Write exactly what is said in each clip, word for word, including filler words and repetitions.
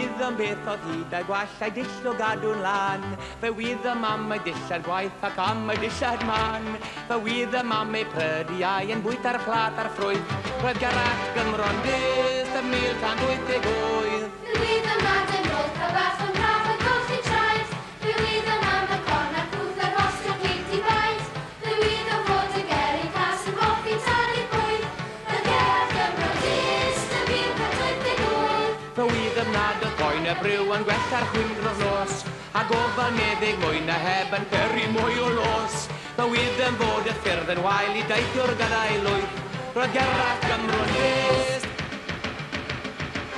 wyddom beth oedd hyd a'i gwall a'i dull o gadw'n lan. Fe wyddom am ei dillad gwaith ac am ei dillad man. Fe wyddom am ei prydiau yn bwyta'r plat a'r ffrwyth. Roedd Gerallt Gymro'n dyst ym mil cant wyth deg wyth. Fe wyddom nad yn roedd cael bach yn braf a golchi traed. Fe wyddom am y corn a'r cwth a'r rhostio cig di-baid. Fe wyddom fod y gelyn cas yn hoffi talu bwyd. Roedd Gerallt Gymro'n dyst ym mil cant wyth deg wyth. Fe wyddom nad oedd poen y briw yn gwella'r chwyldro'r nos, a gofal meddyg mwy na heb yn peri mwy o los. Fe wyddom fod y ffyrdd yn wael i deithio'r gadael lwyth. Roedd Gerallt Gymro'n dyst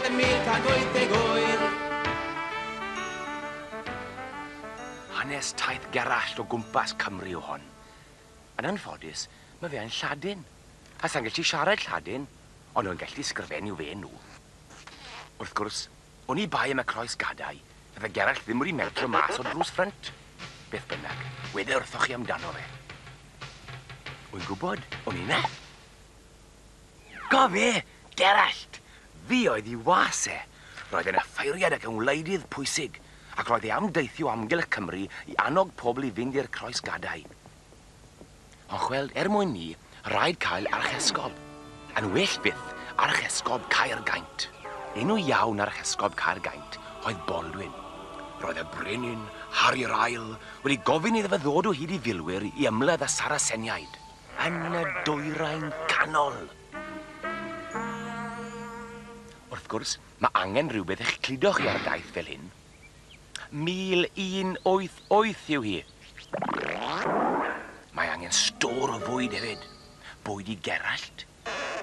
ym mil cant wyth deg wyth. Hanes taith Gerallt o gwmpas Cymru o hon. Yn anffodus, mae fe yn Lladin. A sa'n gallu siarad Lladin, ond o'n gallu sgrifennu fe nhw. Wrth gwrs, o'n i bai am y croes gadau, fydde Gerallt ddim wedi mentro mas o drws ffrynt. Beth bynnag, wede wrthoch chi amdano fe. Wy'n gwybod, o'n i na. Go fe, Gerallt! Fi oedd i was e. Roedd e'n offeiriad ac yn wleidydd pwysig, ac roedd e am deithio amgylch Cymru i annog pobl i fynd i'r croes gadau. Ond chweld, er mwyn ni, rhaid cael archesgob. Yn well fyth, archesgob Caergaint. Enw iawn archesgob Caergaint oedd Baldwin. Roedd y brenin, Harri'r Ail, wedi gofyn iddo fe ddod o hyd i filwyr i ymladd â Saraceniaid yn y dwyrain canol. Wrth gwrs, mae angen rhywbeth eich cludo chi ar daith fel hyn. Mil un wyth wyth yw hi. Mae angen stôr o fwyd hefyd. Bwyd i Gerallt,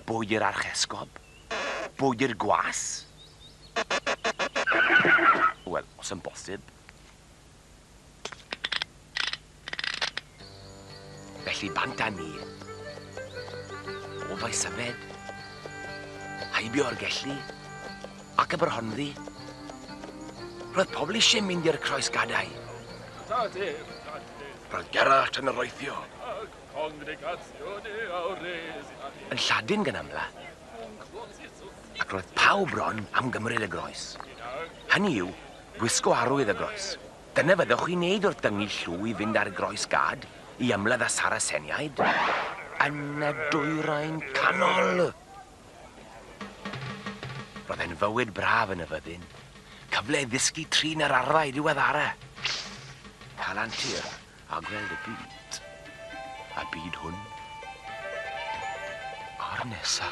bwyd i'r archesgob, bwyd i'r gwas. Wel, os yn bosib. Felly bant â ni. O Faesyfed, heibio'r Gelli, ac Aberhonddu. Roedd pobl eisiau mynd i'r croes gadau. Roedd Gerallt yn areithio. Yn Lladin gan amla. Ac roedd pawb bron am gymryd y groes. Hynny yw, gwisgo arwydd y groes. Dyna fyddwch chi'n neud wrth dyngu llw i fynd ar groes gad i ymladd â Saraceniaid yn y dwyrain canol. Roedd e'n fywyd braf yn y fyddin. Cyfle i ddysgu trin yr arfau diweddara. Cael antur a gweld y byd. A byd hwn. A'r nesa.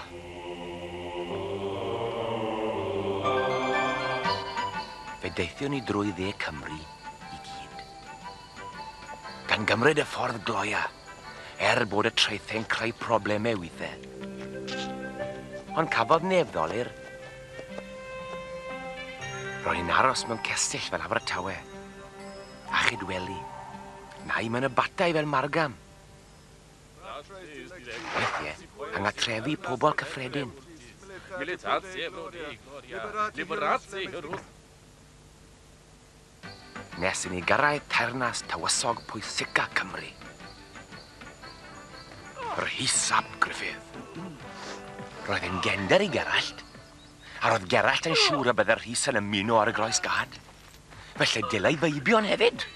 Fe deithion ni drwy dde Cymru i gyd. Gan gymryd y ffordd gloia, er bod y traethau'n creu problemau weithiau. Ond cafodd neb ddolur. Ro'n i'n aros mewn cestyll fel Abertawe, a Chydweli, nai mewn abatai fel Margam. Weithiau, yng nghatrefi pobl cyffredin. Nes i ni gyrraedd teyrnas tywysog pwysica Cymru. Rhys ap Gruffydd. Roedd e'n gender i Gerallt, a roedd Gerallt yn siŵr y bydde Rhys yn ymuno ar y groes gad. Felly dylai feibion hefyd.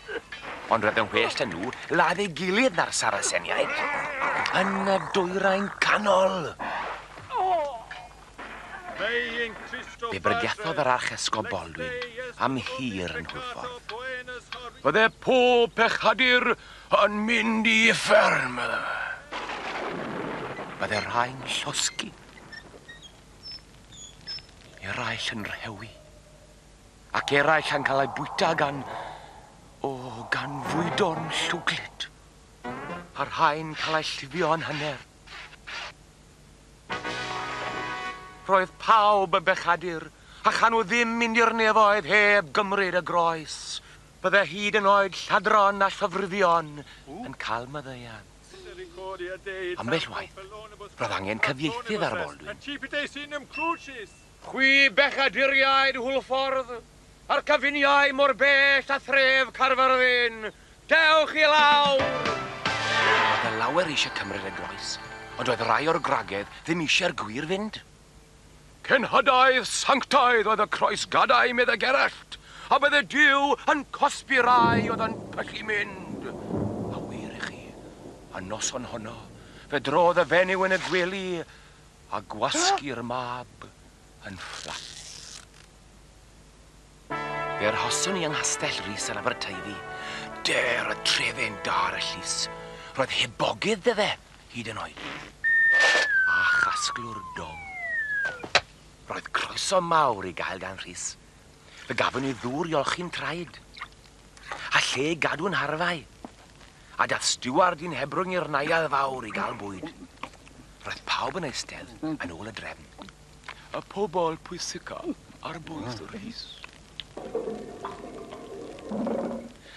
Ond roedd yn well na nhw ladd ei gilydd na'r Saraceniaid. Yn y dwyrain canol. Fe bregethodd yr archesgob Baldwin am hir yn Hwlffordd. Fydde pob pechadur yn mynd i uffern, medde fe. Bydde rhai'n llosgi. Eraill yn rhewi. Ac eraill yn cael eu bwyta gan... o, gan fwydon llwglyd. A rhai'n cael eu llifio yn hanner. Roedd pawb yn bechadur, a chan nhw ddim mynd i'r nefoedd heb gymryd y groes. Bydde hyd yn oed lladron a llofruddion yn cael maddeuant. Ambell waith, roedd angen cyfieithydd ar Baldwin. Chwi bechaduriaid Hwlffordd, a'r cyfuniau mor bell a thref Caerfyrddin, dewch i lawr! Roedd y lawer eisiau cymryd y groes, ond oedd rai o'r gwragedd ddim eisiau'r gwir fynd. Cenhadaeth sanctaidd oedd y croesgadau, meddai Gerallt, a bydde Duw yn cosbi rai oedd yn pyllu mynd. A wir i chi, y noson honno, fe drodd y fenyw yn y gwely a gwasgu'r mab yn fflat. Fe arhoswn i yng Nghastell Rhys yn Aberteifi. Der oedd trefen da ar y llys. Roedd hebogydd dy fe, hyd yn oed. A chasglwr dom. Roedd croeso mawr i gael gan Rhys. Fe gafon ni ddŵr i olchi'n traed. A lle i gadw'n harfau. A dath stiward i'n hebrwng i'r neuadd fawr i gael bwyd. Roedd pawb yn eistedd yn ôl y drefn. Y pobol pwysica ar bwys Rhys.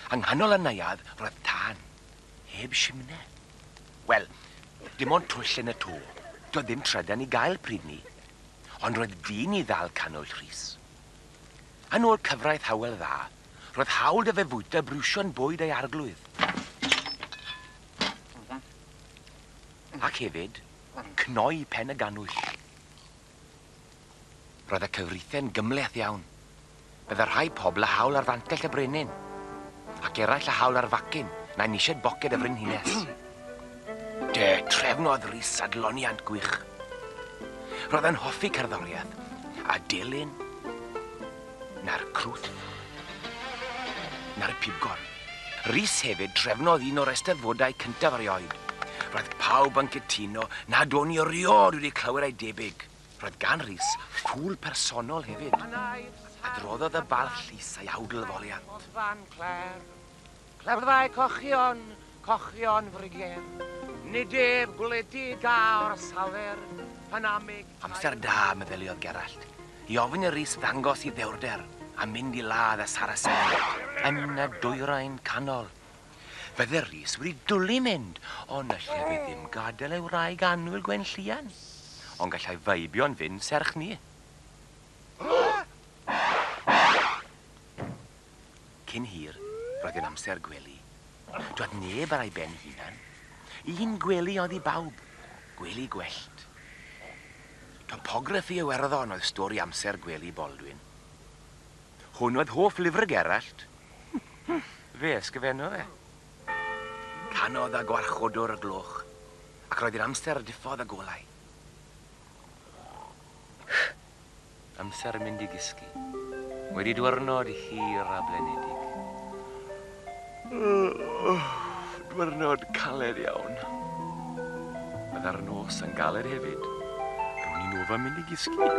Yng nghanol y neuadd roedd tân, heb simne. Wel, dim ond twll yn y to. Doedd ddim trydan i gael pryd ni. Ond roedd dyn i ddal canwyll Rhys. Yn ôl cyfraith Hywel Dda, roedd hawl 'da fe fwyta briwsion bwyd ei arglwydd. Ac hefyd, cnoi pen y ganwyll. Roedd y cyfreithiau'n gymhleth iawn. Bydde rhai pobl â hawl ar fantell y brenin, ac eraill â hawl ar facyn, na'i nisied boced y frenhines. De, trefnodd Rhys adloniant gwych. Roedd e'n hoffi cerddoriaeth, a delyn, na'r crwt, na'r pibgor. Rhys hefyd trefnodd un o'r eisteddfodau cyntaf erioed. Roedd pawb yn cytuno nad o'n i erioed wedi clywed ei debyg. Roedd gan Rhys ffŵl personol hefyd. Adroddodd y bardd llys a'i awdl foliant. Clefddau cochion, cochion frigen, nid ef gwledig a orsafer, panamig... Amser da, meddyliodd Gerallt, i ofyn i Rhys ddangos i ddewrder a mynd i ladd y Saracen yn y dwyrain canol. Fydde Rhys wedi dwlu mynd, ond allai fe ddim gadael ei wraig annwyl Gwenllian. Ond gallai feibio'n fynd serch ni. Cyn hir, roedd yn amser gwely. Doedd neb ar ei ben hunan. Un gwely oedd i bawb, gwely gwellt. Topograffi Iwerddon oedd stori amser gwely Baldwin. Hwn oedd hoff lyfr Gerallt. Fe ysgrifennodd e. Canodd a gwarchodwr y gloch, ac roedd hi'n amser diffodd y golau. Amser mynd i gysgu. Wedi dwyrnod hir a blenedig. Dwyrnod caled iawn. Bydda'r nos yn galed hefyd. Ro'n i'n ofan mynd i gysgu.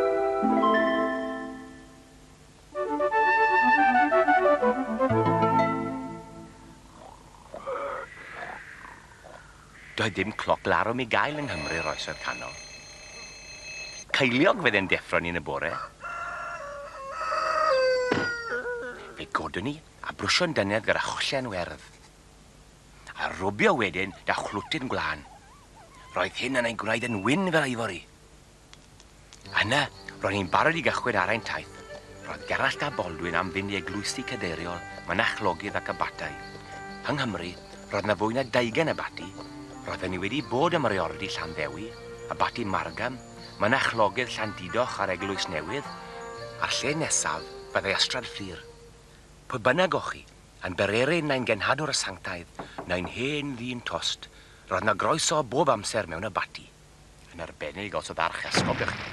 Doedd dim cloc larwm i gael yng Nghymru'r oesoedd canol. Ceiliog fydde'n deffro ni yn y bore. Fe godwn ni a brwsio'n dynedd gyda chollen werdd. A rwbio wedyn da chlwtyn gwlân. Roedd hyn yn ei gwneud yn wyn fel ifori. Yna, ro'n i'n barod i gychwyn ar ein taith. Roedd Gerallt a Baldwin am fynd i eglwysi cadeiriol, mynachlogydd ac abatai. Yng Nghymru, roedd na fwy na deugain abaty. Roedden ni wedi bod ym Mriordy Llanddewi, abaty Margam, mynachlogydd Llandudoch a'r Eglwys Newydd, a'r lle nesaf fyddai Ystrad Fflur. Pwy bynnag o'ch chi, yn bererin neu'n genhadwr y sanctaidd, neu'n hen ddyn tost, roedd na groeso bob amser mewn abaty. Yn arbennig os oedd archesgob i chi.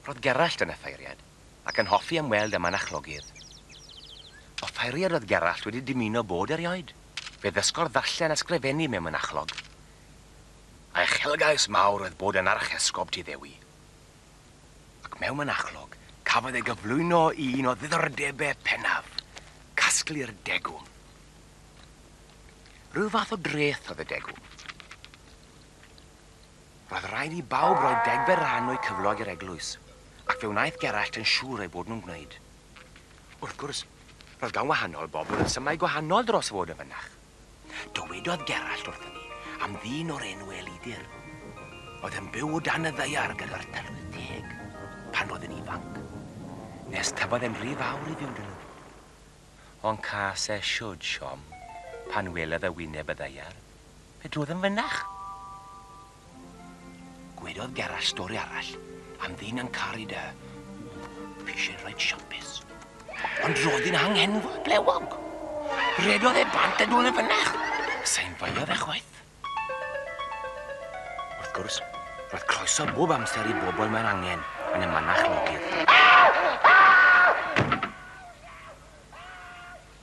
Roedd Gerallt yn offeiriad, ac yn hoffi ymweld â mynachlogydd. Offeiriad oedd Gerallt wedi dymuno bod erioed. Fe ddysgodd ddarllen a sgrifennu mewn mynachlog. A uchelgais mawr oedd bod yn archesgob Tyddewi. Ac mewn mynachlog, cafodd ei gyflwyno i un o ddiddordebau pennaf, casglu'r degwm. Rhyw fath o dreth oedd y degwm. Roedd rhaid i bawb roi degfed rhan o'u cyflog i'r eglwys, ac fe wnaeth Gerallt yn siŵr eu bod nhw'n gwneud. Wrth gwrs, roedd gan wahanol bobl resymau gwahanol dros fod yn fynach. Dywedodd Gerallt wrthyn ni am ddyn o'r enw Elidir. Oedd yn byw o dan y ddaear gyda'r tylwyth teg pan oedd yn ifanc. Nes tyfodd e'n rhy fawr i fyw 'da nhw. Ond cas e siwd siom pan welodd y wyneb y ddaear, fe drodd yn fynach. Dwedodd Gerallt stori arall am ddyn yn caru dy pishin reit siampus. Ond roedd hi'n anghenfod blewog. Redodd e bant a nôl yn fynach. Sa'n feiodd e chwaith. Wrth gwrs, roedd croeso bob amser i bobl mewn angen yn y mynachlogydd.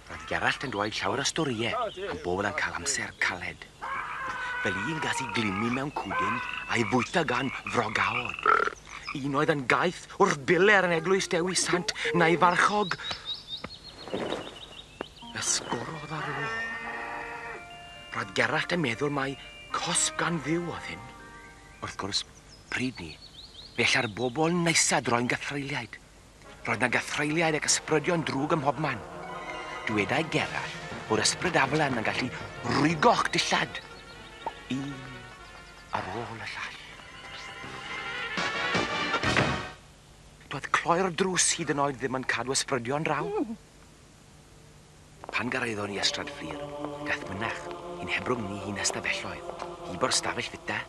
Roedd Gerallt yn dweud llawer o storïau am bobl yn cael amser caled. Fel un gas i glymu mewn cwdyn a'i fwyta gan frogaod. Un oedd yn gaeth wrth biler yn eglwys Dewi Sant na'i farchog ysgorodd ar ôl. Roedd Gerallt yn meddwl mai cosb gan Dduw oedd hyn. Wrth gwrs, pryd ni, fe alla'r bobl neisa droi'n gythreuliaid. Roedd 'na gythreuliaid ac ysbrydion drwg ym mhobman. Dwedai Gerallt bod ysbryd aflan yn gallu rwygo'ch dillad un ar ôl y llall. Doedd cloi'r drws hyd yn oed ddim yn cadw ysbrydion draw. Pan gyrhaeddon ni Ystrad Fflur, daeth mynach i'n hebrwng ni hi'n ystafelloedd, hibo'r stafell fita,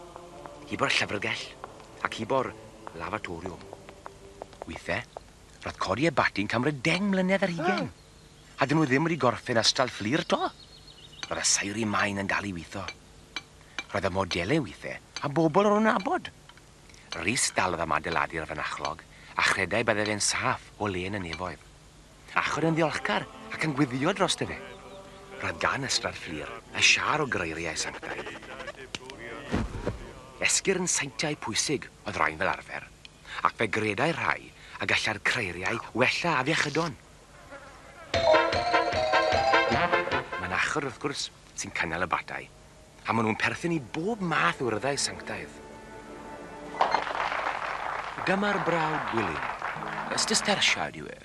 hibo'r llyfrgell, ac hibo'r lavatoriwm. Weithiau, roedd codi y bati'n cymryd deng mlynedd ar hugain. A dyn nhw ddim wedi gorffen Ystrad Fflur to. Roedd y seiri maen yn dal i weithio. Roedd y modelau weithiau a bobl o'n nabod. Rhys dalodd am adeiladu'r fynachlog a chredai bydde fe'n saff o le yn y nefoedd. Achod yn ddiolchgar ac yn gweddio drosto fe. Roedd gan Ystrad Fflur y siâr o greiriau sanctaidd. Esgyrn seintiau pwysig oedd rhain fel arfer, ac fe gredai rhai a gallai'r creiriau wella afiechydon. Mynachod, wrth gwrs, sy'n cynnal y batai, a maen nhw'n perthyn i bob math o urddau sanctaidd. Dyma'r brawd Gwilym, Cistersiad yw e,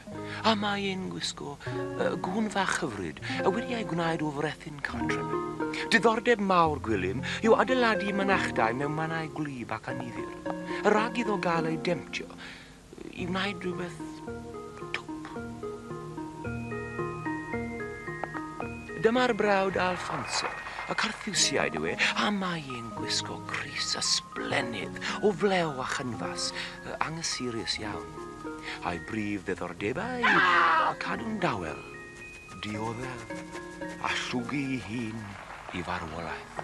a mae e'n gwisgo uh, gwn fach hyfryd, a wedi ei gwnaed o frethyn cartref. Diddordeb mawr Gwilym yw adeiladu mynachdai mewn mannau gwlyb ac annifyr, rhag iddo gael ei demtio i wneud rhywbeth twp. Dyma'r brawd Alfonso, y Carthusiaid yw e, a mae e'n gwisgo crys ysblennydd o flew a chynfas, anghysurius iawn. A'i brif ddiddordebau yw cadw'n dawel, dioddef a llwgu ei hun i farwolaeth.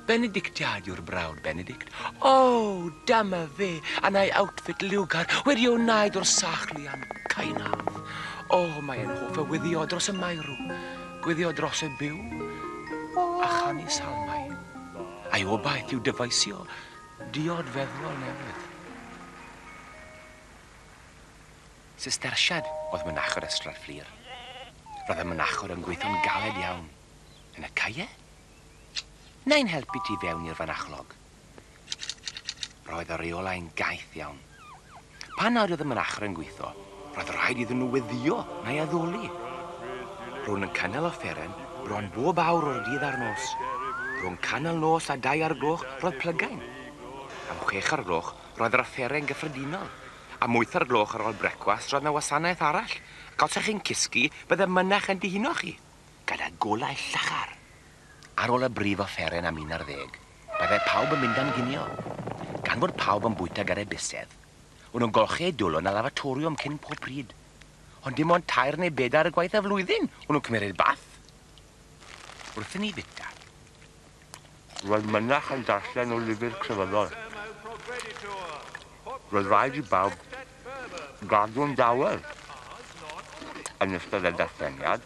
Benedictiad yw'r brawd Benedict. O, dyma fe, yn ei outfit liwgar wedi ei wneud o'r sachlian caenaf. O, mae e'n hoff o weddïo dros y meirw, gweddio dros y byw, a chanu salmau. A'i obaith yw dyfeisio diod feddwol newydd. Cistersiad oedd mynachod Ystrad Fflur. Roedd y mynachod yn gweithio'n galed iawn. Yn y caeau? Neu'n helpu ti fewn i'r fynachlog. Roedd y reolau'n gaeth iawn. Pan nad oedd y mynachod yn gweithio, roedd rhaid iddyn nhw weddïo neu addoli. Ro'n yn cynnal offeren bron bob awr o'r dydd a'r nos. Rhwng canol nos a dau ar gloch roedd plygain. Am chwech ar gloch roedd yr offeren gyffredinol. Am wyth ar gloch ar ôl brecwast roedd 'na wasanaeth arall. Ac os ych chi'n cysgu, bydde mynach yn dihuno chi, gyda golau llachar. Ar ôl y brif offeren am un ar ddeg, bydde pawb yn mynd am ginio. Gan fod pawb yn bwyta gyda'i bysedd, o'n nhw'n golchi eu dwylo yn y lavatoriwm cyn pob pryd. Ond dim ond tair neu bedair y gwaith y flwyddyn o'n nhw'n cymryd bath. Wrth i ni fita, roedd mynach yn darllen o lyfr crefyddol. Roedd rhaid i bawb gadw'n dawel yn ystod y darlleniad.